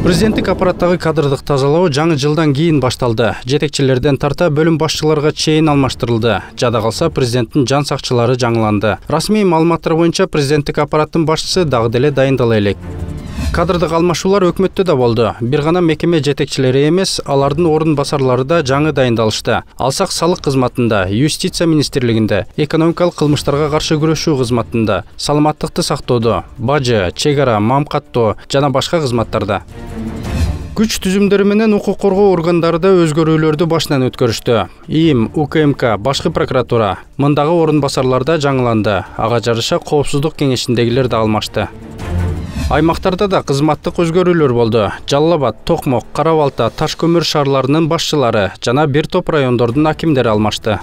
Президенттик аппараттагы кадрдык тазалоо жаңы жылдан кийин башталды. Жетекчилерден тарта бөлүм башчыларга чейин алмаштырылды. Жада калса президенттин жан сакчылары жаңыланды. Расмий маалыматтар боюнча президенттик аппараттын башчысы дагы деле дайындала элек. Кадрдык алмашуулар өкмөттө да болду. Бир гана мекеме жетекчилери эмес, алардын орун басарлары да жаңы дайындалышты. Алсак салык кызматында, юстиция министрлигинде, экономикалык кылмыштарга каршы күрөшүү кызматында, саламаттыкты сактоодо, бажы, чек ара, мамкаттоо жана башка кызматтарда. Күч түзүмдөрү менен укук коргоо органдары да өзгөрүүлөрдү башынан өткөрүштү. ИИМ, УКМК, башкы прокуратура, мындагы орун басарлар да жаңыланды. Ага жараша коопсуздук кеңешиндегилер да алмашты. Аймактарда да кызматтык өзгөрүүлөр болду. Жалал Абад, Токмок, Кара Балта, Таш көмүр шаарларынын башчылары жана бир топ райондордун акимдери алмашты.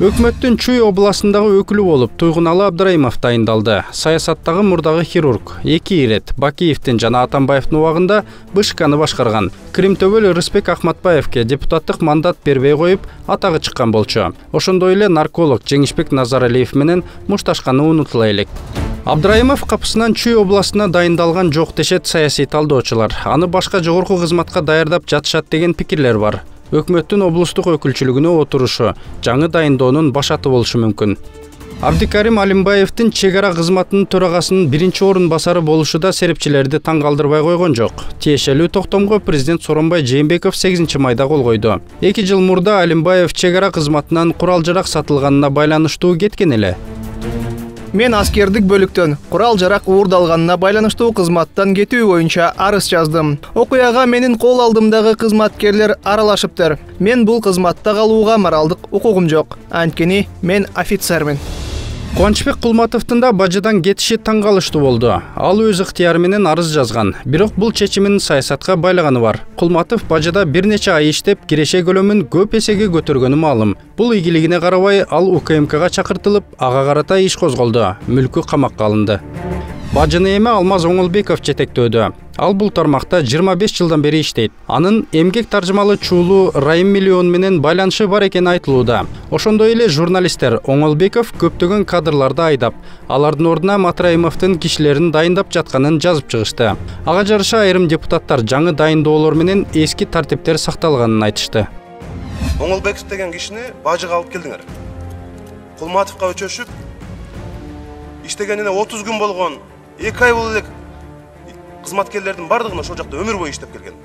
Өкмөттүн Чүй областындагы өкүлү болуп Туйгуналы Абдрайымов дайындалды. Саясаттагы мурдагы хирург, 2 ирет Бакиевдин жана Атамбаевдин убагында БШКны башкарган. Кримтөбөл Рыспек Ахматбаевке депутаттык мандат бербей коюп, атагы чыккан болчу. Ошондой эле нарколог Жеңишбек Назаралиев менен мушташканы унутула элек. Абдрайымов капысынан Чүй областына дайындалган жок дешет саясий талдоочулар. Аны башка жогорку кызматка даярдап жатышат деген пикирлер бар. Өкмөттүн облустук өкүлчүлүгүнө отурушу жаңы дайындоонун башаты болушу мүмкүн. Абдикарим Алимбаевдин чек ара кызматынын төрагасынын биринчи орун басары болушу да серепчилерди таң калтырбай койгон жок. Тиешелүү токтомго президент Сооронбай Жээнбеков 8 майда кол койду. 2 жыл мурда Алимбаев чек ара кызматынан курал-жарак сатылганына байланыштуу кеткен эле. Мен аскердик бөлүктөн курал-жарак уурдалганына байланыштуу кызматтан кетүү боюнча арыз жаздым. Окуяга менин кол алдымдагы кызматкерлер аралашыптыр. Мен бул кызматта калууга моралдык укугум жок. Анткени мен офицермин. Кубанычбек Кулматовдун да бажыдан кетиши таң калыштуу болду. Ал өз ыктыяры менен арыз жазган. Бирок бул чечимин саясатка байлаганы бар. Кулматов бажыда бир нече ай иштеп, киреше көлөмүн көп эсеге көтөргөнү маалым. Бул ийгилигине карабай ал УКМКга чакыртылып, ага карата иш козголду. Мүлкү камакка алынды. Бажыны эми Алмаз Оңолбеков жетектөөдө. Ал бул тармакта 25 жылдан бери иштейт. Анын эмгек таржымалы чуулу Райым Миллион менен байланышы бар экени айтылууда. Ошондой эле журналисттер Оңолбеков көптөгөн кадрларды айдап, алардын ордуна Матраимовдун кишилерин дайындап жатканын жазып чыгышты. Ага жараша айрым депутаттар жаңы дайындоолор менен эски тартиптер сакталганын айтышты. Оңолбеков деген кишини бажыга алып келдиңер. Кулматовго өчөшүп, иштегенине 30 күн болгон, 2 ай болду элек. Кызматкерлердин бардыгын ошол жакта өмүр бою иштеп келген.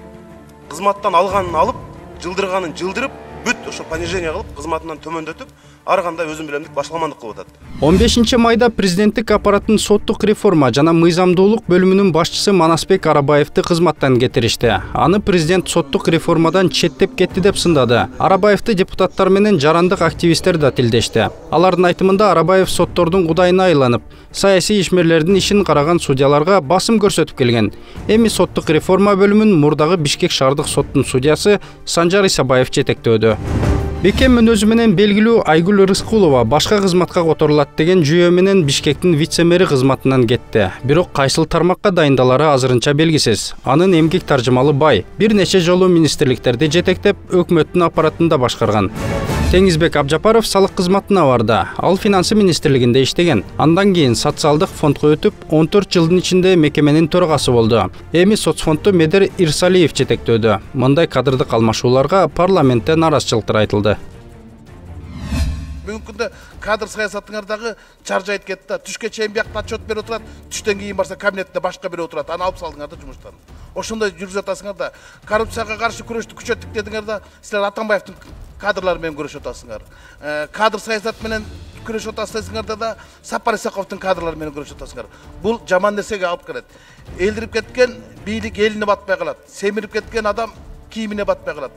Кызматтан алганын алып, жылдырганын жылдырып, бүт ошо понижение кылып, кызматынан төмөндөтүп, ар кандай өзүм билемдик башкалмандык кылып атат. 15 майда президенттик аппараттын соттук реформа жана мыйзамдуулук бөлүмүнүн башчысы Манасбек Арабаевди кызматтан кетиришти. Аны президент соттук реформадан четтеп кетти деп сындады. Арабаевди депутаттар менен жарандык активисттер да тилдешти. Алардын айтымында Арабаев соттордун кудайына айланып, саясий ишмерлердин ишин караган судьяларга басым көрсөтүп келген. Эми соттук реформа бөлүмүн мурдагы Бишкек шаардык соттун судьясы Санжар Исабаев жетектөөдө. Бекем өзү менен белгилүү Айгүл Рыскулова башка кызматка которулат деген жүйө менен Бишкектин вице-мэри кызматынан кетти. Бирок кайсыл тармакка дайындалары азырынча белгисиз. Анын эмгек таржымалы бай, бир нече жолу министрликтерди жетектеп, өкмөттүн аппаратында башкарган. Теңизбек Абжапаров салык кызматына барды. Ал финансы министрлигинде иштеген. Андан кийин социалдык фондко өтүп, 14 жылдын ичинде мекеменин төрагасы болду. Эми соцфондду Медер Ирсалиев жетектөөдө. Мындай кадрдык алмашууларга парламентте наразычылыктар айтылды. Бүгүнкү күндө кадр саясатыңардагы чаржайт кетти да, түшкө чейин биякта отчет берип отурат, түштөн кийин барса кабинетте башка бирөө отурат, аны алып салдыңар да жумуштан. Ошондой жүргүзүп атасыңар да, коррупцияга каршы күрөштү күчөттүк дедиңер да, силер Атамбаевдин кадрлары менен күрөшүп атасыңар. Кадр саясат менен күрөшүп атасыңар да, Сапар Исаковдун кадрлары менен күрөшүп атасыңар. Бул жаман нерсеге алып келет. Элдирип кеткен бийлик элине батпай калат. Семирип кеткен адам кийимине батпай калат.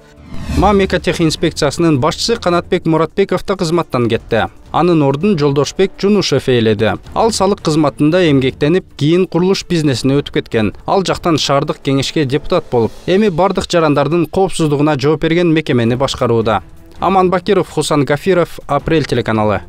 Мамекотех инспекциясынын башчысы Канатбек Муратбеков да кызматтан кетти. Анын ордун Жолдошбек Жунушев ээледи. Ал салык кызматында эмгектенип, кийин курулуш бизнесине өтүп кеткен. Ал жактан шаардык кеңешке депутат болуп, эми бардык жарандардын коопсуздугуна жооп берген мекемени башкарууда. Аман Бакиров, Хусан Гафиров, Апрель телеканалы.